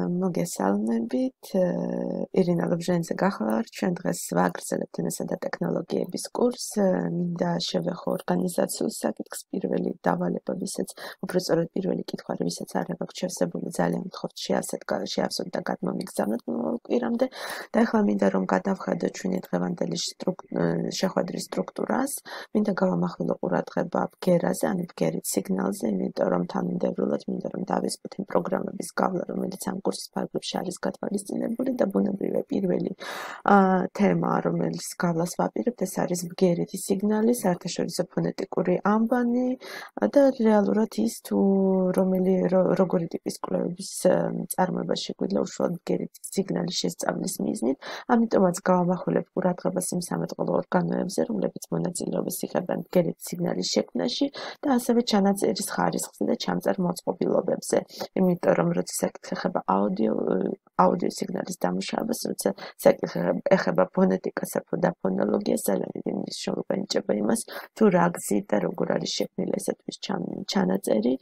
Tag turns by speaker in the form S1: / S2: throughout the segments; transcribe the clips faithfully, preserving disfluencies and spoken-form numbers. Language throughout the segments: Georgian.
S1: მოგესალმებით. ირინა ლობჟანიძე გახლავართ. ჩვენ დღეს ვაგრძელებთ ენასა და ტექნოლოგიების კურსს. მინდა შევეხო ორგანიზაციულ საკითხს. პირველი დავალება, ვისაც უბრალოდ პირველი კითხვა, ვისაც არ აქვს შევსებული, ძალიან გთხოვთ შეავსოთ და გადმომიგზავნოთ მომავალ კვირამდე. და ახლა მინდა რომ გადავხედოთ ჩვენი დღევანდელი შეხვედრის სტრუქტურას. მინდა გავამახვილო ყურადღება ბგერაზე, ანუ ბგერით სიგნალზე, იმიტომ რომ თანმიმდევრულად მინდა რომ დავისწროთ იმ პროგრამების გავლა, რომელიც ამ კურსის ფარგლებში არის გათვალისწინებული და ბუნებრივია პირველი თემა, რომელიც გავლას ვაპირებთ, ეს არის ბგერითი სიგნალი, საერთაშორისო ფონეტიკური ანბანი და რეალურად ის თუ რომელი როგორი ტიპის კვლევების წარმოება შეგვიძლია უშუალოდ ბგერითი სიგნალის შესწავლის მიზნით. ამიტომაც გავამახვილებ ყურადღებას იმ სამეთყოლო ორგანოებზე, რომლებიც მონაწილეობას იღებენ ბგერითი სიგნალის შექმნაში და ასევე ჩანაწერის ხარისხზე და ჩამწერ მოწყობილობებზე. იმიტომ რომ როცა საკითხი ეხება აუდიო აუდიო სიგნალის დამუშავებას, როცა საკითხი ეხება ფონეტიკასა და ფონოლოგიას, ძალიან დიდი მნიშვნელობა ენიჭება იმას, თუ რა გზით და როგორ არის შექმნილი ესეთის ჩანაწერი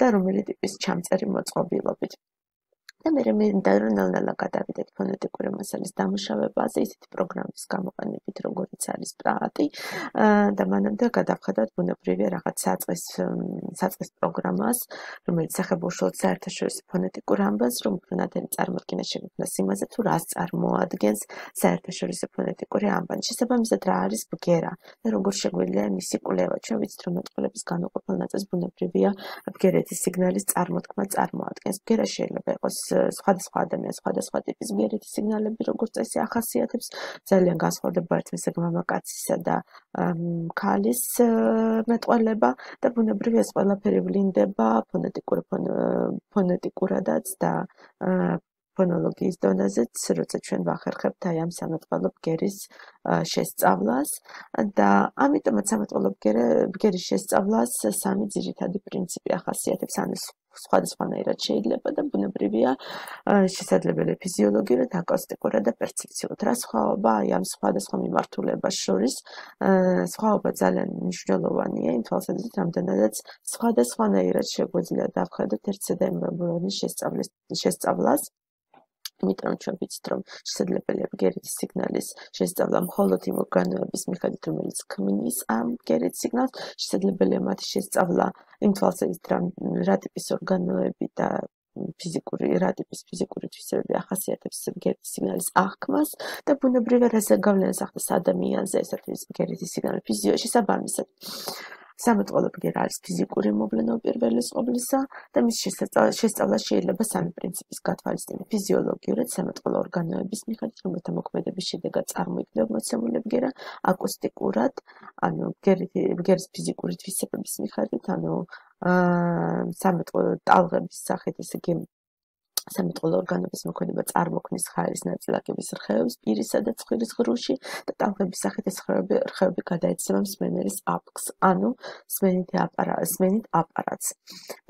S1: და რომელი ტიპის ჩამწერი მოწყობილობით. და მე მინდა რომ ნელ-ნელა გადავიდეთ ფონეტიკური მასალის დამუშავებაზე, ისეთი პროგრამის გამოყენებით, როგორიც არის პრატი და მანამდე გადავხედოთ ბუნებრივია რაღაც საწყის საწყის პროგრამას, რომელიც ეხება უშუალოდ საერთაშორისო ფონეტიკურ ანბანს, რომ უფრო ნათელი წარმოდგენა შეგვექმნას იმაზე, თუ რას წარმოადგენს საერთაშორისო ფონეტიკური ანბანი. შესაბამისად, რა არის ბგერა და როგორ შეგვიძლია მისი კვლევა. ჩვენ ვიცით, რომ მეტყველების განუყოფელ ნაწილს ბუნებრივია ბგერითი სიგნალის წარმოთქმა წარმოადგენს. ბგერა შეიძლება იყოს სხვადასხვა ადამიანის სხვადასხვა ტიპის ბგერითი სიგნალები, როგორც წესი ახასიათებს, ძალიან განსხვავდება ერთმანეთსაგან მამაკაცისა და ქალის მეტყველება და ბუნებრივია ეს ყველაფერი ვლინდება ფონეტიკურ ფონეტიკურადაც და ფონოლოგიის დონეზეც, როცა ჩვენ ვახერხებთ აი ამ სამეთყველო ბგერის შესწავლას და ამიტომაც სამეთყველო ბგერის შესწავლას სამი ძირითადი პრინციპი ახასიათებს, ანუ სხვადასხვანაირად შეიძლება და ბუნებრივია შესაძლებელი ფიზიოლოგიურად, აკუსტიკურად და პერცეფციულად. რა სხვაობა აი ამ სხვადასხვა მიმართულებას შორის? სხვაობა ძალიან მნიშვნელოვანია იმ თვალსაზრისით, რამდენადაც სხვადასხვანაირად შეგვიძლია დავხედოთ ერთსა-და-იმავე შესწავლას. იმიტომ რომ ჩვენ ვიცით, რომ შესაძლებელია ბგერითი სიგნალის შესწავლა მხოლოდ იმ ორგანოების მიხედვით, რომელიც ქმნის ამ ბგერით სიგნალს, შესაძლებელია მათი შესწავლა იმ თვალსაზრისით, რა ტიპის ორგანოები და ფიზიკური, რა ტიპის ფიზიკური თვისებები ახასიათებს ბგერითი სიგნალის აღქმას და ბუნებრივია რაზე გავლენას ახდენს ადამიანზე ეს არის ბგერითი სიგნალი ფიზიოლოგიაში შესაბამისად. სამეთყველო ბგერა არის ფიზიკური მოვლენა უპირველეს ყოვლისა და მის შესწავლას შეიძლება სამი პრინციპის გათვალისწინებით. ფიზიოლოგიურად სამეთყველო ორგანოების მიხედვით, რომელთა მოქმედების შედეგად წარმოიქმნება მოცემული ბგერა, აკუსტიკურად, ანუ ბგერის ფიზიკური თვისებების მიხედვით, ანუ სამეთყველო ტალღების სახით, ესე იგი სამეთყველო ორგანოების მოქმედება წარმოქმნის ხაერის ნაწილაკების რხევებს პირისა და ცხვირის ღრუში და ტალღების სახით ეს რხევები გადაეცემა მსმენელის აპკს, ანუ სმენით აპარატს.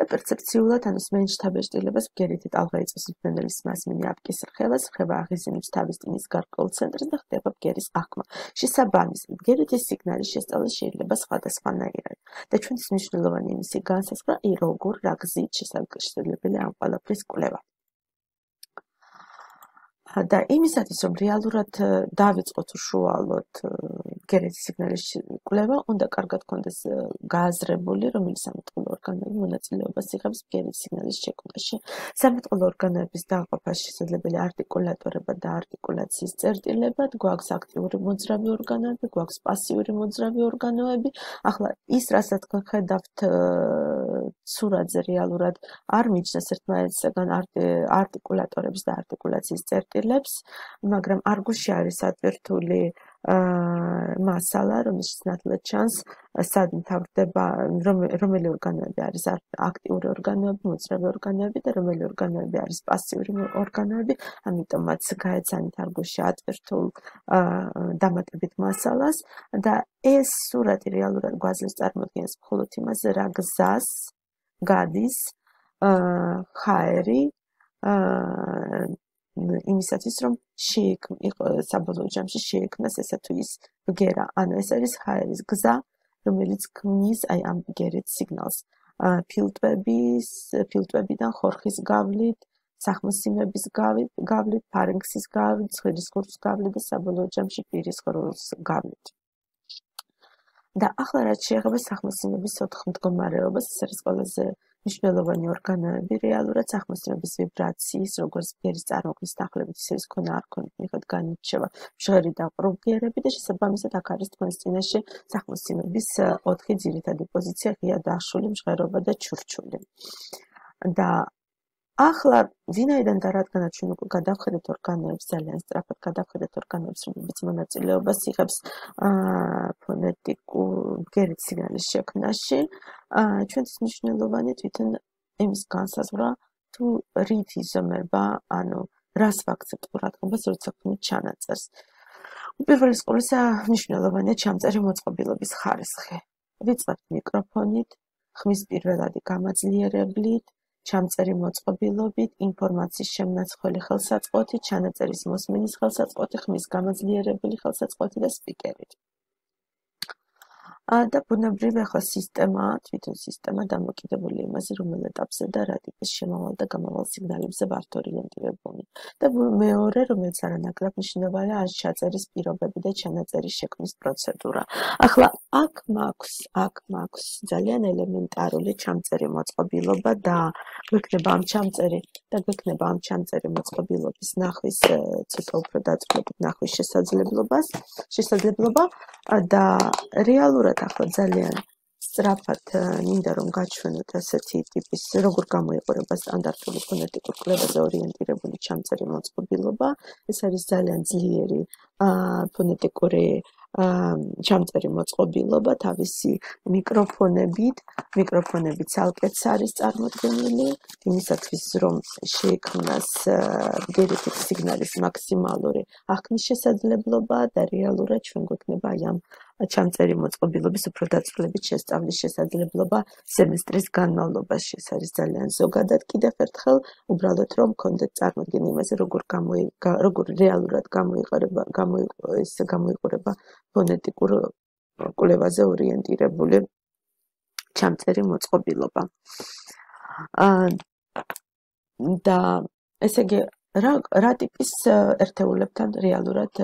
S1: და პერცეფციულად, ანუ სმენის შთაბეჭდილებას ბგერითი ტალღა იწვევს მსმენელის მასმინი აპკის რხევას, რხევა აღიზიანებს თავის ტვინის გარკვეულ ცენტრს და ხდება ბგერის აღქმა. შესაბამისად, ბგერითი სიგნალის შესწავლა შეიძლება სხვადასხვანაირად და ჩვენთვის მნიშვნელოვანი იმისი განსაზღვრა, როგორ რა გზით შესაძლებელია ამ ყველაფრის კვლევა. და იმისათვის, რომ რეალურად დავიწყოთ უშუალოდ ბგერითი სიგნალის კვლევა, უნდა კარგად გქონდეს გააზრებული, რომელი სამეთყველო ორგანოები მონაწილეობას იღებს ბგერითი სიგნალის შექმნაში. სამეთყველო ორგანოების დაყოფაში შესაძლებელია არტიკულატორება და არტიკულაციის წერტილებად, გვაქვს აქტიური მოძრავი ორგანოები, გვაქვს პასიური მოძრავი ორგანოები. ახლა ის, რასაც ხედავთ სურათზე რეალურად არ მიჩნევს ერთმანეთისაგან არტიკულატორებს და არტიკულაციის წერტილებს, მაგრამ არგუსში არის ატვირთული მასალა, რომელშიც ნათლად ჩანს, სად მთავრდება, რომელი ორგანოები არის აქტიური ორგანოები, მოძრავი ორგანოები და რომელი ორგანოები არის პასიური ორგანოები, ამიტომაც გაეცანით არგუსში ატვირთულ დამატებით მასალას და ეს სურათი რეალურად გვაძლევს წარმოდგენას მხოლოდ იმაზე, რა გზას გადის ხაერი იმისათვის, რომ საბოლოო ჯამში შეექმნას ესა თუ ის ბგერა, ანუ ეს არის ხაერის გზა, რომელიც ქმნის აი ამ ბგერით სიგნალს. ფილტვების, ფილტვებიდან ხორხის გავლით, სახმოსიმების გავლით, ფარინქსის გავლით, ცხვირის ღრუს გავლით და საბოლოო ჯამში პირის ღრუს გავლით. და ახლა რაც შეეხება სახმოსიმების ოთხ მდგომარეობას, ეს არის ყველაზე მნიშვნელოვანი ორგანოები, რეალურად სახმოსიმების ვიბრაციის, როგორც ბგერის წარმოქმნის დახლებით, ისე ის ქონა არ ქონით მიხედვით განირჩევა მჟღერი და ყრუგიერები და შესაბამისად აქ არის თქვენს წინაშე სახმოსიმების ოთხი ძირითადი პოზიცია, ღია დაშული, მჟღერობა და ჩურჩული. და ახლა ვინაიდან და რადგანაც ჩვენ უკვე გადავხედეთ ორგანოებს, ძალიან სწრაფად გადავხედეთ ორგანოებს, რომლებიც მონაწილეობას იღებს ფონეტიკურ ბგერით სიგნალის შექმნაში, ჩვენთვის მნიშვნელოვანი თვითონ იმის განსაზღვრა, თუ რით იზომება, ანუ რას ვაქცევთ ყურადღებას, როცა ვქნით ჩანაწერს. უპირველეს ყოვლისა მნიშვნელოვანია ჩამწერი მოწყობილობის ხარისხი. ვიწყებთ მიკროფონით, ხმის პირველადი გამაძლიერებლით, ჩამწერი მოწყობილობით, ინფორმაციის შემნაცვლელი ხელსაწყოთი, ჩანაწერის მოსმენის ხელსაწყოთი, ხმის გამაძლიერებელი ხელსაწყოთი და სპიკერით. და ბუნებრივი ახლა სისტემა, თვითონ სისტემა დამოკიდებული იმაზე, რომელ ეტაპზე და რა ტიპის შემავალ და გამავალ სიგნალებზე ვართ ორიენტირებული. და მეორე, რომელიც არანაკლებ მნიშვნელოვანია, არის ჩაწერის პირობები და ჩანაწერის შექმნის პროცედურა. ახლა აქ მაქვს, აქ მაქვს ძალიან ელემენტარული ჩამწერი მოწყობილობა და გვექნება ამ ჩამწერი და გვექნება ამ ჩამწერი მოწყობილობის ნახვის ცოტა უფრო დაწვრილებით ნახვის შესაძლებლობას, შესაძლებლობა და რეალურად ახლა ძალიან სწრაფად მინდა რომ გაჩვენოთ ასეთი ტიპის როგორ გამოიყურება სტანდარტული ფონეტიკურ კლებაზე ორიენტირებული ჩამწერი მოწყობილობა. ეს არის ძალიან ძლიერი ფონეტიკური ჩამწერი მოწყობილობა თავისი მიკროფონებით, მიკროფონები ცალკეც არის წარმოდგენილი, იმისათვის რომ შეიქმნას ბგერითი სიგნალის მაქსიმალური აღქმის შესაძლებლობა და რეალურად ჩვენ გვექნება აი ამ ჩამწერი მოწყობილობის უფრო დაწვრილებით შესწავლის შესაძლებლობა სემესტრის განმავლობაში. ეს არის ძალიან ზოგადად კიდევ ერთხელ, უბრალოდ რომ გქონდეთ წარმოდგენა იმაზე, როგორ გამოი როგორ რეალურად გამოიყურება ეს გამოიყურება ფონეტიკურ კვლევაზე ორიენტირებული ჩამწერი მოწყობილობა. და ესე იგი რა რა ტიპის ერთეულებთან რეალურად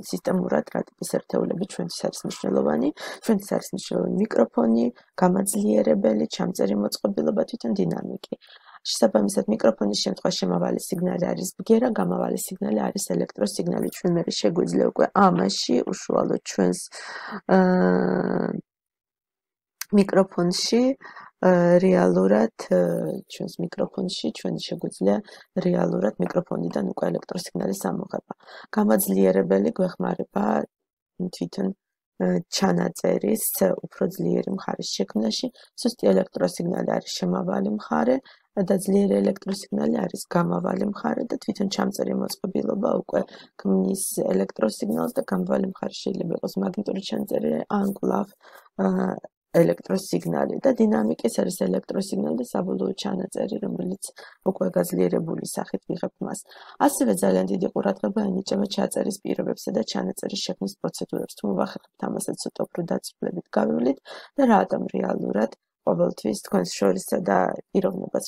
S1: სისტემურად რა ტიპის ერთეულები ჩვენთვის არის მნიშვნელოვანი? ჩვენთვის არის მნიშვნელოვანი მიკროფონი, გამაძლიერებელი, ჩამწერი მოწყობილობა, თვითონ დინამიკი. შესაბამისად მიკროფონის შემთხვევაში შემავალი სიგნალი არის ბგერა, გამავალი სიგნალი არის ელექტროსიგნალი. ჩვენ მე შეგვიძლია უკვე ამაში უშუალოდ ჩვენს მიკროფონში რეალურად ჩვენს მიკროფონში ჩვენ შეგვიძლია რეალურად მიკროფონიდან უკვე ელექტროსიგნალის ამოღება. გამაძლიერებელი გვეხმარება თვითონ ჩანაწერის უფრო ძლიერი მხარის შექმნაში. სუსტი ელექტროსიგნალი არის შემავალი მხარე და ძლიერი ელექტროსიგნალი არის გამავალი მხარე და თვითონ ჩამწერი მოწყობილობა უკვე ქმნის ელექტროსიგნალს და გამავალი მხარე შეიძლება იყოს მაგნიტური ჩანაწერი ან კვლავ ელექტროსიგნალი და დინამიკის არის ელექტროსიგნალი და საბოლოო ჩანაწერი, რომელიც უკვე გაძლიერებული სახით ვიღებთ მას. ასევე ძალიან დიდი ყურადღება ენიჭება ჩაწერის პირობებსა და ჩანაწერის შექმნის პროცედურებს. თუ მოვახერხებთ ამასაც ცოტა უფრო დაწვრილებით გავივლით და რატომ რეალურად ყოველთვის თქვენს შორისა და პიროვნებას,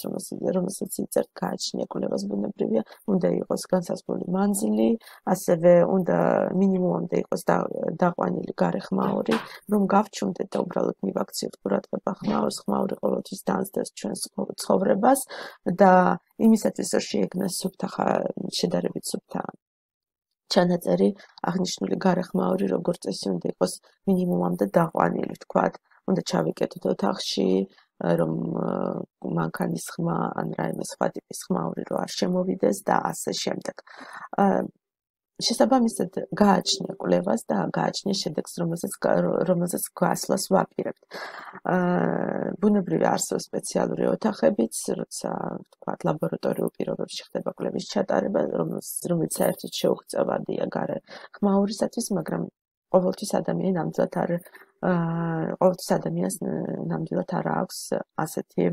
S1: რომელსაც იწერთ გააჩნია კვლევას ბუნებრივია, უნდა იყოს განსაზღვრული მანძილი, ასევე უნდა მინიმუმამდე იყოს დაყვანილი გარე ხმაური, რომ გავჩუმდეთ და უბრალოდ მივაქციოთ ყურადღება ხმაურს, ხმაური ყოველთვის დაანსდას ჩვენს ცხოვრებას და იმისათვის რომ შეექმნას სუფთა შედარებით სუფთა ჩანაწერი, აღნიშნული გარე ხმაური როგორც წესი უნდა იყოს მინიმუმამდე დაყვანილი, ვთქვათ. უნდა ჩავიკეთოთ ოთახში, რომ მანქანის ხმა ან რაიმე სხვა ტიპის ხმაური რო არ შემოვიდეს და ასე შემდეგ. შესაბამისად გააჩნია კვლევას და გააჩნია შედეგს, რომელსაც რომელსაც გასვლას ვაპირებთ. ბუნებრივია არსებობს სპეციალური ოთახებიც, როცა ვთქვათ ლაბორატორიულ პირობებში ხდება კვლევის ჩატარება, რომელიც საერთოდ შეუღწევადია გარე ხმაურისათვის, მაგრამ ყოველთვის ადამიანი ნამდვილად არ ყოველთვის ადამიანს ნამდვილად არ აქვს ასეთი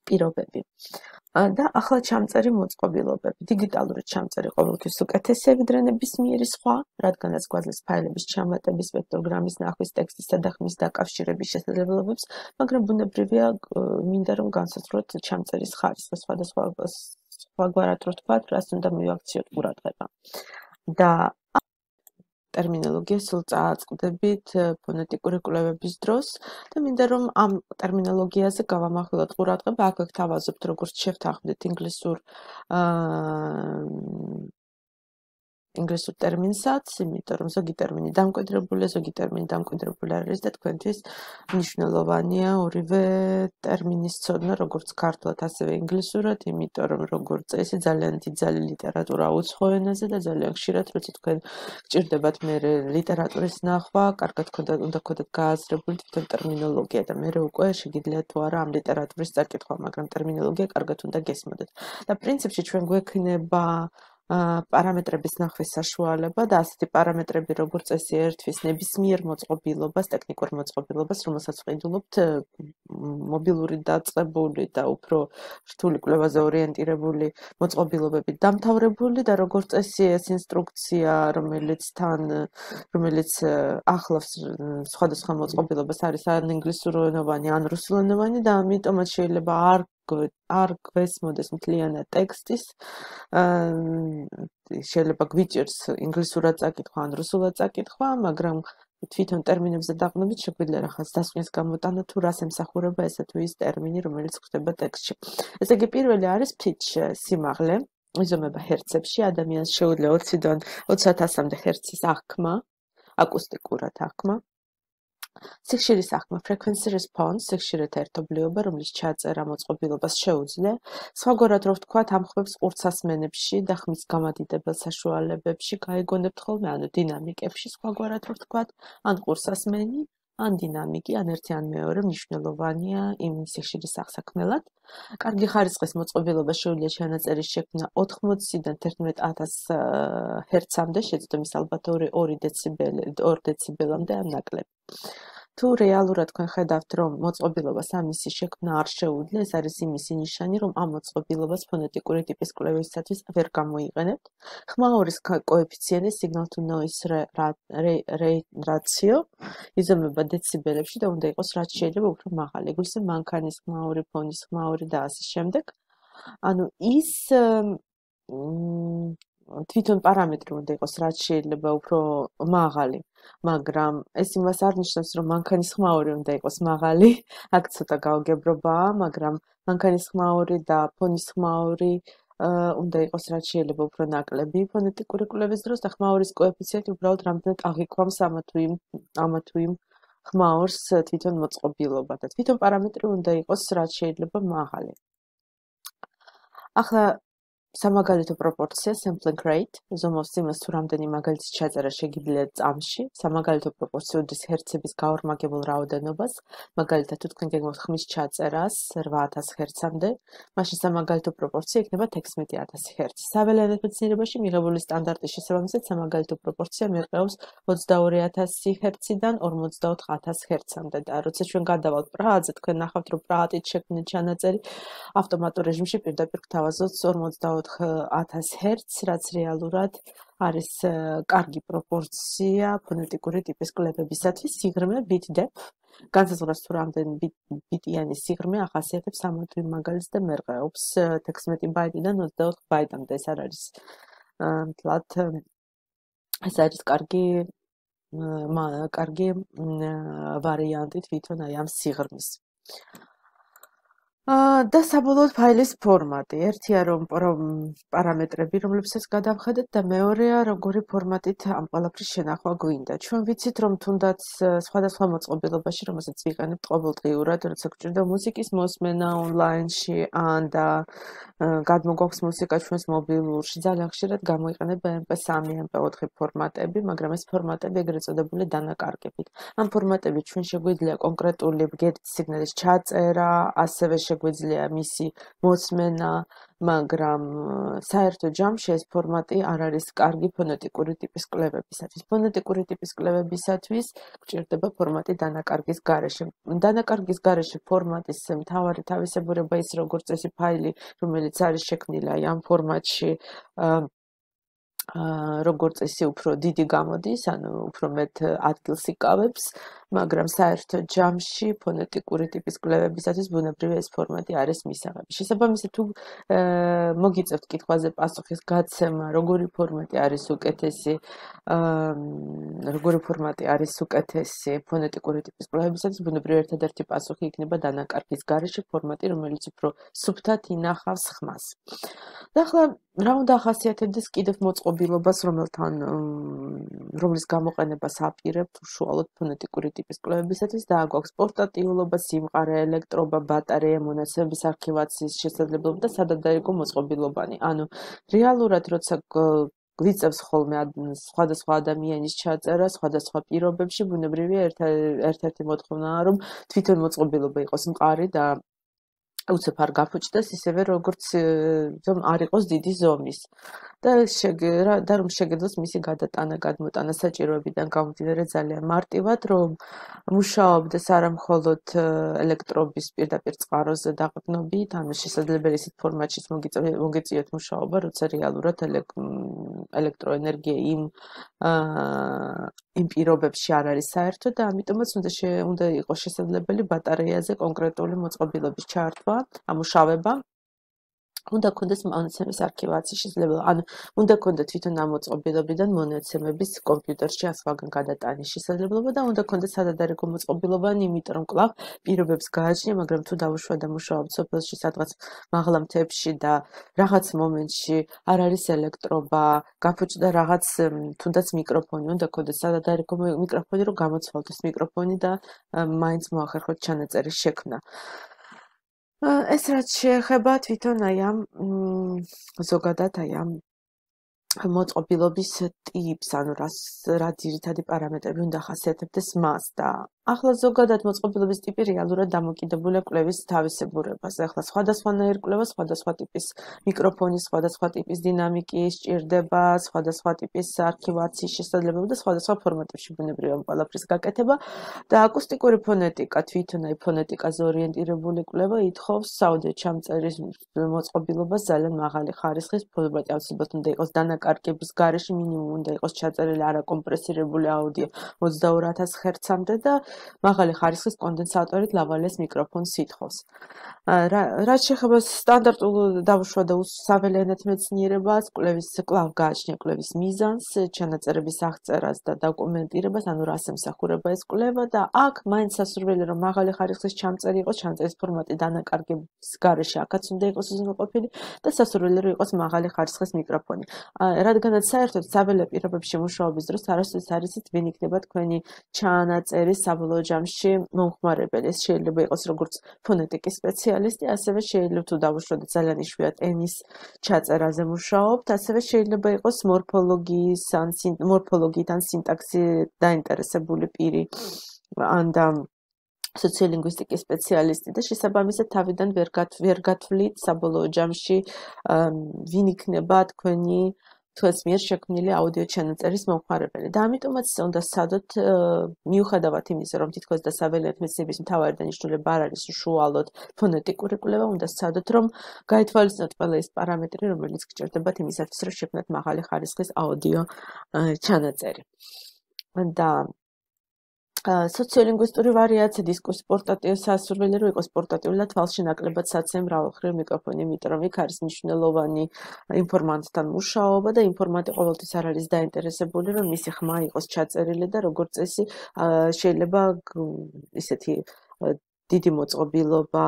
S1: პირობები. და ახლა ჩამწერი მოწყობილობები. დიგიტალური ჩამწერი ყოველთვის უკეთესია ვიდრე ნებისმიერი სხვა, რადგანაც გვაძლევს ფაილების ჩამატების, სპექტროგრამის ნახვის, ტექსტისა და ხმის დაკავშირების შესაძლებლობებს, მაგრამ ბუნებრივია მინდა რომ განსაზღვროთ ჩამწერის ხარისხი სხვადასხვა სხვაგვარად რო ვთქვათ, რას უნდა მივაქციოთ ყურადღება. და ტერმინოლოგია სულ წააწყდებით ფონეტიკური კვლევების დროს და მინდა რომ ამ ტერმინოლოგიაზე გავამახვილოთ ყურადღება, აქ ვთავაზობთ როგორც შევთანხმდით ინგლისურ აა ინგლისურ ტერმინსაც, იმიტომ რომ ზოგი ტერმინი დამკვიდრებულია, ზოგი ტერმინი დამკვიდრებული არ არის და თქვენთვის მნიშვნელოვანია ორივე ტერმინის ცოდნა, როგორც ქართულად, ასევე ინგლისურად, იმიტომ რომ როგორც წესი ძალიან დიდძალი ლიტერატურა უცხო ენაზე და ძალიან ხშირად, როცა თქვენ გჭირდებათ მე ლიტერატურის ნახვა, კარგად უნდა გქონდეთ გააზრებული თვითონ ტერმინოლოგია და მე უკვე შეგიძლიათ თუ არა ამ ლიტერატურის წაკითხვა, მაგრამ ტერმინოლოგია კარგად უნდა გესმოდეთ. და პრინციპში ჩვენ გვექნება პარამეტრების ნახვის საშუალება და ასეთი პარამეტრები როგორც წესი ერთვის ნებისმიერ მოწყობილობას, ტექნიკურ მოწყობილობას, რომელსაც ვყიდულობთ მობილური დაწყებული და უფრო რთული კვლევაზე ორიენტირებული მოწყობილობებით დამთავრებული და როგორც წესი ეს ინსტრუქცია, რომელიც თან რომელიც ახლავს სხვადასხვა მოწყობილობას არის ან ინგლისურენოვანი, ან რუსულენოვანი და ამიტომაც შეიძლება არ არ გვესმოდეს მთლიანად ტექსტის შეიძლება გვიჭირს ინგლისურად წაკითხვა ან რუსულად წაკითხვა, მაგრამ თვითონ ტერმინებზე დაყნობით შეგვიძლია რაღაც დასკვნის გამოტანა თუ რას ემსახურება ესა თუ ის ტერმინი, რომელიც გვხვდება ტექსტში. ესე იგი პირველი არის pitch სიმაღლე, იზომება ჰერცებში, ადამიანს შეუძლია ოციდან ოცი ათასამდე ჰერცის აღქმა, აკუსტიკურად აღქმა. სიხშირის აღქმა, frequency response, სიხშირეთა ერთობლიობა, რომლის ჩაწერა მოწყობილობას შეუძლია. სხვაგვარად რო ვთქვათ, ამ ხმებს ყურცასმენებში და ხმის გამადიდებელ საშუალებებში გაიგონებთ ხოლმე, ანუ დინამიკებში სხვაგვარად რო ვთქვათ, ან ყურცასმენი, ან დინამიკი, ან ერთი ან მეორე მნიშვნელოვანია იმ სიხშირის აღსაქმელად. კარგი ხარისხის მოწყობილობა შეუძლია ჩანაწერის შექმნა ოთხმოციდან თერთმეტ ათას ჰერცამდე, შეძლო მის ალბათური ორი დეციბელამდე ან ნაკლები. თუ რეალურად თქვენ ხედავთ, რომ მოწყობილობას ამისი შექმნა არ შეუძლია, ეს არის იმისი ნიშანი, რომ ამ მოწყობილობას ფონეტიკური ტიპის კვლევისათვის ვერ გამოიყენებთ. ხმაურის კოეფიციენტი signal to noise ratio იზომება დეციბელებში და უნდა იყოს რაც შეიძლება უფრო მაღალი. ეგრისე მანქანის ხმაური, ფონის ხმაური და ასე შემდეგ. ანუ ის თვითონ პარამეტრი უნდა იყოს რაც შეიძლება უფრო მაღალი, მაგრამ ეს იმას არ ნიშნავს, რომ მანქანის ხმაური უნდა იყოს მაღალი, აქ ცოტა გაუგებრობაა, მაგრამ მანქანის ხმაური და ფონის ხმაური უნდა იყოს რაც შეიძლება უფრო ნაკლები ფონეტიკური კვლევის დროს და ხმაურის კოეფიციენტი უბრალოდ რამდენად აღიქვამს ამა თუ იმ ამა თუ იმ ხმაურს თვითონ მოწყობილობა და თვითონ პარამეტრი უნდა იყოს რაც შეიძლება მაღალი. ახლა სამაგალითო პროპორცია, sampling rate, ზომავს იმას თუ რამდენი მაგალითის ჩაწერა შეგიძლიათ წამში, სამაგალითო პროპორცია უდის ჰერცების გაორმაგებულ რაოდენობას, მაგალითად თუ თქვენ გეგმავთ ხმის ჩაწერას რვა ათას ჰერცამდე, მაშინ სამაგალითო პროპორცია იქნება თექვსმეტი ათასი ჰერცი. საველიანად მეცნიერებაში მიღებული სტანდარტის შესაბამისად სამაგალითო პროპორცია მერყეობს ოცდაორი ათასი ჰერციდან ორმოცდაოთხ ათას ჰერცამდე და როცა ჩვენ გადავალთ პრაჰაზე, თქვენ ნახავთ რომ პრაჰატით შექმნილი ჩანაწერი ავტომატურ რეჟიმში პირდაპირ გთავაზობთ ორმოცდაოთხ ათას ჰერცს, რაც რეალურად არის კარგი პროპორცია ფონეტიკური ტიპის კვლევებისათვის. სიღრმე bit depth, განსაზღვრავს თუ რამდენი ბიტიანი სიღრმე ახასიათებს ამა თუ იმ მაგალითს და მერყეობს თექვსმეტი ბაიტიდან ოცდაოთხ ბაიტამდე. ეს არ არის მთლად ეს არის კარგი კარგი ვარიანტი თვითონ აი ამ სიღრმის. და საბოლოოდ ფაილის ფორმატი. ერთია რომ პარამეტრები, რომლებსაც გადავხედეთ და მეორეა როგორი ფორმატით ამ ყველაფრის შენახვა გვინდა. ჩვენ ვიცით რომ თუნდაც სხვადასხვა მოწყობილობაში, რომელსაც ვიყენებთ ყოველდღიურად, როცა გვჭირდა მუსიკის მოსმენა ონლაინში ან და გადმოგვაქვს მუსიკა ჩვენს მობილურში, ძალიან ხშირად გამოიყენება em pe სამი, em pe ოთხი ფორმატები, მაგრამ ეს ფორმატები ეგრეთ წოდებული დანაკარგებით. ამ ფორმატებით ჩვენ შეგვიძლია კონკრეტული ბგერითი სიგნალის ჩაწერა, ასევე შეგვიძლია მისი მოსმენა, მაგრამ საერთო ჯამში ეს ფორმატი არ არის კარგი ფონეტიკური ტიპის კვლევებისათვის. ფონეტიკური ტიპის კვლევებისათვის გვჭირდება ფორმატი დანაკარგის გარეშე. დანაკარგის გარეშე ფორმატის მთავარი თავისებურება ის როგორც წესი ფაილი, რომელიც არის შექმნილი აი ამ ფორმატში როგორც წესი უფრო დიდი გამოდის, ანუ უფრო მეტ ადგილს იკავებს მაგრამ საერთო ჯამში ფონეტიკური ტიპის კვლევებისათვის ბუნებრივი ეს ფორმატი არის მისაღები. შესაბამისად, თუ მოგიწევთ კითხვაზე პასუხის გაცემა, როგორი ფორმატი არის უკეთესი, როგორი ფორმატი არის უკეთესი ფონეტიკური ტიპის კვლევებისათვის, ბუნებრივი ერთადერთი პასუხი იქნება დანაკარგის გარეშე ფორმატი, რომელიც უფრო სუფთად ინახავს ხმას. და ახლა რა უნდა ახასიათებდეს კიდევ მოწყობილობას, რომელთან რომლის გამოყენებას აპირებთ უშუალოდ ფონეტიკური ტიპის კვლევებისათვის და აგვაქვს პორტატიულობა, სიმყარე, ელექტრობა, ბატარეა, მონაცემების არქივაციის შესაძლებლობა და სადადაიგო მოწყობილობანი. ანუ რეალურად როცა გვიწევს ხოლმე სხვადასხვა ადამიანის ჩაწერა სხვადასხვა პირობებში, ბუნებრივია ერთ-ერთი მოთხოვნაა, რომ თვითონ მოწყობილობა იყოს მყარი და უცებ არ გაფუჭდეს, ისევე როგორც რომ არ იყოს დიდი ზომის. და და რომ შეგეძლოს მისი გადატანა, გადმოტანა საჭიროებიდან გამომდინარე ძალიან მარტივად, რომ მუშაობდეს არა მხოლოდ ელექტრობის პირდაპირ წყაროზე დაყრდნობით, ანუ შესაძლებელი ისეთ ფორმატშიც მოგეწიოთ მუშაობა, როცა რეალურად ელექტროენერგია იმ იმ პირობებში არ არის საერთო და ამიტომაც უნდა უნდა იყოს შესაძლებელი ბატარეაზე კონკრეტული მოწყობილობის ჩართვა, ამუშავება. უნდა კონდეს მონაცემების არქივაციის შესაძლებლობა. ანუ უნდა კონდა თვითონ ამ მოწყობილობიდან მონაცემების კომპიუტერში ასვლაგან გადატანის შესაძლებლობა და უნდა კონდეს სადადაიგო მოწყობილობანი, იმიტომ რომ კვლავ პირობებს გააჩნია, მაგრამ თუ დავუშვა და მუშაობ სოფელში სადღაც მაღლა მთებში და რაღაც მომენტში არ არის ელექტრობა, გაფუჭდა რაღაც თუნდაც მიკროფონი, უნდა კონდეს სადადაიგო მიკროფონი, რომ გამოცვალოს მიკროფონი და მაინც მოახერხოთ ჩანაწერის შექმნა. ეს რაც შეეხება თვითონ აი ამ ზოგადად აი ამ მოწყობილობის ტიპს, ანუ რა ძირითადი პარამეტრები უნდა ახასიათებდეს მას და ახლა ზოგადად მოწყობილობის ტიპი რეალურად დამოკიდებულია კვლევის თავისებურებაზე. ახლა სხვადასხვანაირ კვლევას სხვადასხვა ტიპის მიკროფონის, სხვადასხვა ტიპის დინამიკი სჭირდება, სხვადასხვა ტიპის არქივაციის შესაძლებლობა და სხვადასხვა ფორმატებში ბუნებრივია ყველაფრის გაკეთება და აკუსტიკური ფონეტიკა, თვითონ აი ფონეტიკაზე ორიენტირებული კვლევა ითხოვს საუდიო ჩამწერის მოწყობილობას ძალიან მაღალი ხარისხის ფორმატი, აუცილებლად უნდა იყოს დანაკარგების გარეშე მინიმუმ უნდა იყოს ჩაწერილი არაკომპრესირებული აუდიო ოცდაორ ათას ჰერცამდე და მაღალი ხარისხის კონდენსატორით ლავალეს მიკროფონს ითხოვს. რაც შეეხება სტანდარტულ დავუშვა და საველენად მეცნიერებას, კვლევის კვლავ გააჩნია კვლევის მიზანს, ჩანაწერების აღწერას და დოკუმენტირებას, ანუ რას ემსახურება ეს კვლევა და აქ მაინც სასურველი რომ მაღალი ხარისხის ჩამწერი იყოს, ჩამწერის ფორმატი დანაკარგების გარეშე აქაც უნდა იყოს უზრუნველყოფილი და სასურველი რომ იყოს მაღალი ხარისხის მიკროფონი. რადგანაც საერთოდ საველე პირობებში მუშაობის დროს არასდროს არ იცით ვინ იქნება თქვენი ჩანაწერის საბოლოო ჯამში მომხმარებელი. ეს შეიძლება იყოს როგორც ფონეტიკის სპეციალისტი, ასევე შეიძლება თუ დავუშვათ ძალიან იშვიათ ენის ჩაწერაზე მუშაობთ, ასევე შეიძლება იყოს მორფოლოგიის ან მორფოლოგიით ან სინტაქსით დაინტერესებული პირი ან და სოციოლინგვისტიკის სპეციალისტი და შესაბამისად თავიდან ვერ ვერ გათვლით საბოლოო ჯამში ვინ იქნება თქვენი თქვენს მიერ შექმნილი აუდიო ჩანაწერის მომხმარებელი და ამიტომაც უნდა სცადოთ მიუხედავად იმისა რომ თითქოს და საველენად მეცნიერების მთავარი დანიშნულება არ არის უშუალოდ ფონეტიკური კვლევა უნდა სცადოთ რომ გაითვალისწინოთ ყველა ის პარამეტრი რომელიც გჭირდებათ იმისათვის რომ შექმნათ მაღალი ხარისხის აუდიო ჩანაწერი და სოციოლინგვისტური ვარიაცია დისკურსი პორტატიული სასურველი რომ იყოს პორტატიული და თვალში ნაკლებად საცემ მრავალმხრივ მიკროფონი, იმიტომ რომ იქ არის მნიშვნელოვანი ინფორმანტთან მუშაობა და ინფორმანტი ყოველთვის არ არის დაინტერესებული რომ მისი ხმა იყოს ჩაწერილი და როგორც წესი შეიძლება ისეთი დიდი მოწყობილობა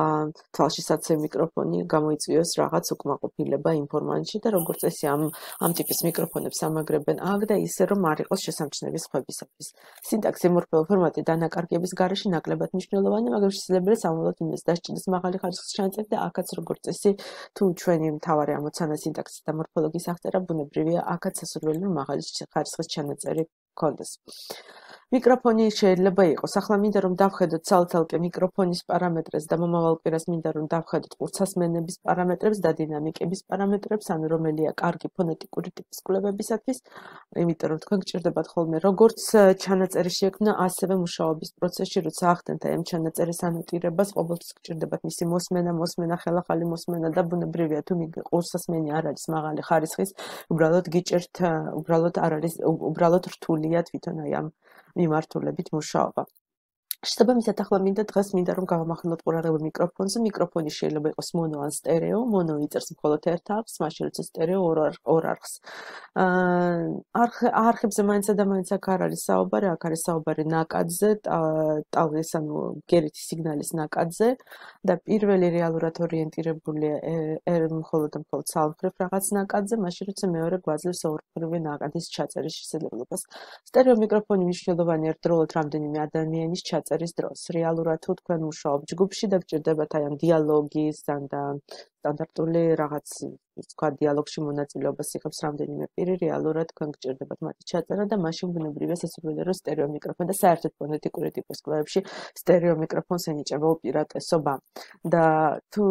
S1: თვალში საცემ მიკროფონი გამოიწვიოს რაღაც უკმაყოფილება ინფორმანტში და როგორც წესი ამ ამ ტიპის მიკროფონებს ამაგრებენ აქ და ისე რომ არ იყოს შესამჩნევის ხვებისათვის. სინტაქსი მორფოლოგიური ფორმატი დანაკარგების გარეშე ნაკლებად მნიშვნელოვანი, მაგრამ შესაძლებელი სამომავლოდ იმას დასჭირდეს მაღალი ხარისხის ჩანაწერი და აქაც როგორც წესი თუ ჩვენი მთავარი ამოცანა სინტაქსის და მორფოლოგიის აღწერა ბუნებრივია აქაც სასურველი რომ მაღალი ხარისხის ჩანაწერი გქონდეს. მიკროფონი შეიძლება იყოს. ახლა მინდა რომ დავხედოთ ცალ-ცალკე მიკროფონის პარამეტრებს და მომავალ კვირას მინდა რომ დავხედოთ ყურცასმენების პარამეტრებს და დინამიკების პარამეტრებს, ანუ რომელია კარგი ფონეტიკური ტიპის კვლევებისათვის, იმიტომ რომ თქვენ გჭირდებათ ხოლმე როგორც ჩანაწერის შექმნა, ასევე მუშაობის პროცესში, როცა ახდენთ ამ ჩანაწერის ანოტირებას, ყოველთვის გჭირდებათ მისი მოსმენა, მოსმენა, ხელახალი მოსმენა და ბუნებრივია თუ ყურცასმენი არ არის მაღალი ხარისხის, უბრალოდ გიჭირთ, უბრალოდ არ არის, უბრალოდ რთულია თვითონ აი ამ მიმართულებით მუშაობა. შესაბამისად ახლა მინდა დღეს მინდა რომ გავამახვილოთ ყურადღება მიკროფონზე. მიკროფონი შეიძლება იყოს მონო ან სტერეო. მონო იწერს მხოლოდ ერთ არხს, მაშინ როცა სტერეო ორ ორ არხს. აა არხებზე მაინც და მაინც აქ არ არის საუბარი, აქ არის საუბარი ნაკადზე, ტალღის ანუ გერითი სიგნალის ნაკადზე და პირველი რეალურად ორიენტირებულია მხოლოდ და მხოლოდ სამხრეთ რაღაც ნაკადზე, მაშინ როცა მეორე გვაძლევს ორფეროვანი ნაკადის ჩაწერის შესაძლებლობას. სტერეო მიკროფონი მნიშვნელოვანი ერთდროულად რამდენიმე ადამიანის ჩაწერის დროს. რეალურად თუ თქვენ მუშაობთ ჯგუფში და გჭირდებათ აი ამ დიალოგის და სტანდარტული რაღაც თქვა დიალოგში მონაწილეობას იღებს რამდენიმე პირი, რეალურად თქვენ გჭირდებათ მათი ჩაწერა და მაშინ ბუნებრივია შესაძლებელია რომ სტერეო მიკროფონი და საერთოდ ფონეტიკური ტიპის კვლევებში სტერეო მიკროფონს ენიჭება უპირატესობა. და თუ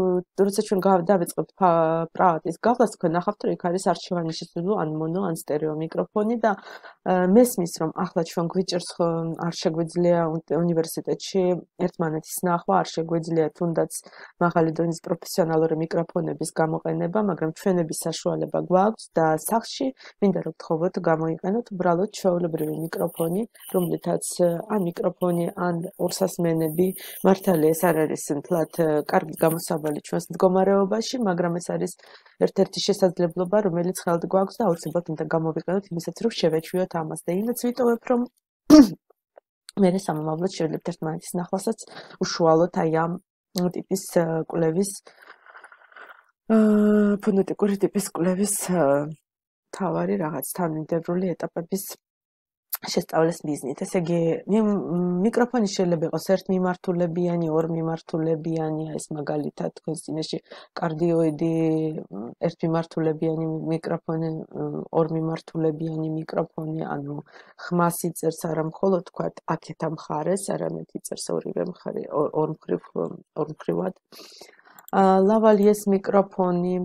S1: როცა ჩვენ დავიწყებთ პრაოტის გავლას, თქვენ ნახავთ რომ იქ არის არჩევანი შესაძლო ან მონო ან სტერეო მიკროფონი და მესმის რომ ახლა ჩვენ გვიჭერს არ შეგვიძლია უნივერსიტეტში ერთმანეთის ნახვა, არ შეგვიძლია თუნდაც მაღალი დონის პროფესიონალური მიკროფონების გამოყენება, მაგრამ ჩვენების საშუალება გვაქვს და სახში მინდა რომ გთხოვოთ გამოიყენოთ უბრალოდ ჩვეულებრივი მიკროფონი, რომლითაც ან მიკროფონი, ან ორსასმენები, მართალია ეს არ არის მთლად კარგი გამოსავალი ჩვენს მდგომარეობაში, მაგრამ ეს არის ერთ-ერთი შესაძლებლობა, რომელიც ხელთ გვაქვს და აუცილებლად უნდა გამოვიყენოთ იმისაც, რომ შევეჩვიოთ ამას და იმედს ვიტოვებ, რომ მე სამომავლოდ შევძლებთ ერთმანეთის ნახვასაც უშუალოდ აი ამ ტიპის კვლევის ფონეტიკური ტიპის კვლევის თავარი რაღაც თანმიმდევრული ეტაპების შესწავლის მიზნით. ესე იგი, მიკროფონი შეიძლება იყოს ერთმიმართულებიანი, ორმიმართულებიანი, ეს მაგალითად თქვენს წინაშე კარდიოიდი ერთმიმართულებიანი მიკროფონი, ორმიმართულებიანი მიკროფონი, ანუ ხმას იწერს არა მხოლოდ თქვათ აქეთ ამ მხარეს, არამედ იწერს ორივე მხარე, ორმხრივ ორმხრივად. ლავალიეს მიკროფონი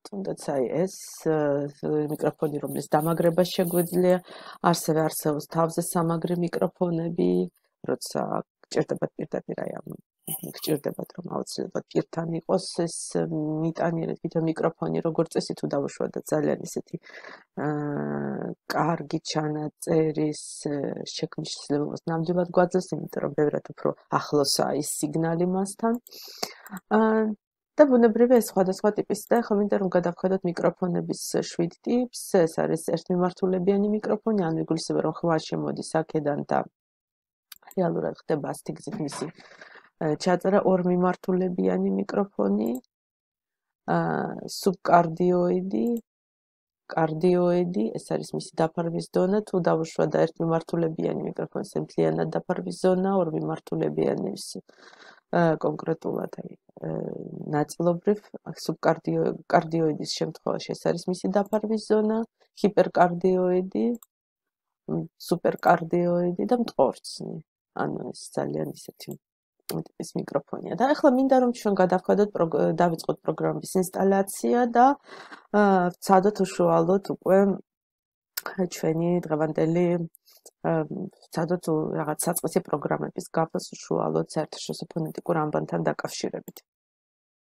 S1: თუნდაც აი ეს მიკროფონი, რომლის დამაგრება შეგვიძლია, ასევე არსებობს თავზე სამაგრი მიკროფონები, როცა გჭირდებათ პირდაპირ აი ამ გჭირდებათ რომ აუცილებლად პირთან იყოს ეს მიტანიერი თვითონ მიკროფონი, როგორც წესი თუ დავუშვათ ძალიან ისეთი კარგი ჩანაწერის შექმნის შესაძლებლობას ნამდვილად გვაძლევს, იმიტომ რომ ბევრად უფრო ახლოსაა ის სიგნალი მასთან. და ბუნებრივია ეს სხვადასხვა ტიპის და ახლა მინდა რომ გადავხედოთ მიკროფონების შვიდ ტიპს. ეს არის ერთმიმართულებიანი მიკროფონი, ანუ იგულისხმება რომ ხმა შემოდის აქედან და რეალურად ხდება ასეთი გზით მისი ჩაწერა. ორმიმართულებიანი მიკროფონი, სუბკარდიოიდი, კარდიოიდი, ეს არის მისი დაფარვის დონა, თუ დავუშვათ და ერთმიმართულებიანი მიკროფონის მთლიანად დაფარვის ზონა, ორმიმართულებიანის კონკრეტულად აი ნაწილობრივ სუბკარდიოიდის შემთხვევაში ეს არის მისი დაფარვის ზონა, ჰიპერკარდიოიდი, სუპერკარდიოიდი და მტყორცნი. ანუ ეს ძალიან ისეთი ტიპის მიკროფონია. და ახლა მინდა რომ ჩვენ გადავხედოთ დავიწყოთ პროგრამის ინსტალაცია და ვცადოთ უშუალოდ უკვე ჩვენი დღევანდელი ვცადოთ რაღაც საწყისი პროგრამების გაფას უშუალოდ საერთაშორისო ფონეტიკურ ამბანთან დაკავშირებით.